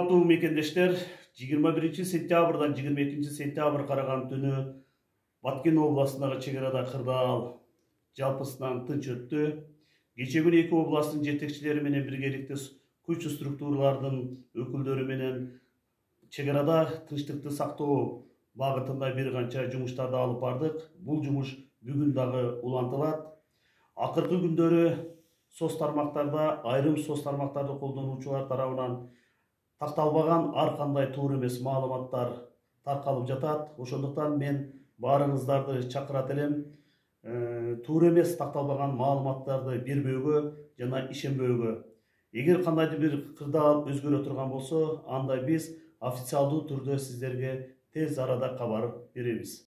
Урматтуу мекендештер, 21 сентябрдан 22 сентябрь караган түнү Баткен областындагы чек арада кырдаал жалпысынан тынч өттү. Кечээ күнү эки областтын жетекчилери менен биргеликте күч структуралардын өкүлдөрү менен чек арада тынчтыкты сактоо багытында бир канча жумуштарды алып бардык. Бул жумуш бүгүн дагы улантылат. Акыркы күндөрү айрым соц тармактарды колдонуучулар тарабынан такталбаган ар кандай туура эмес маалыматтар таркалып жатат. Ошондуктан мен баарыңыздарды чакырат элем, туура эмес такталбаган маалыматтарды бербөөгө жана ишенбөөгө. Эгер кандайдыр бир кырдаал өзгөрө турган болсо, анда биз официалдуу түрдө сиздерге тез арада кабар беребиз.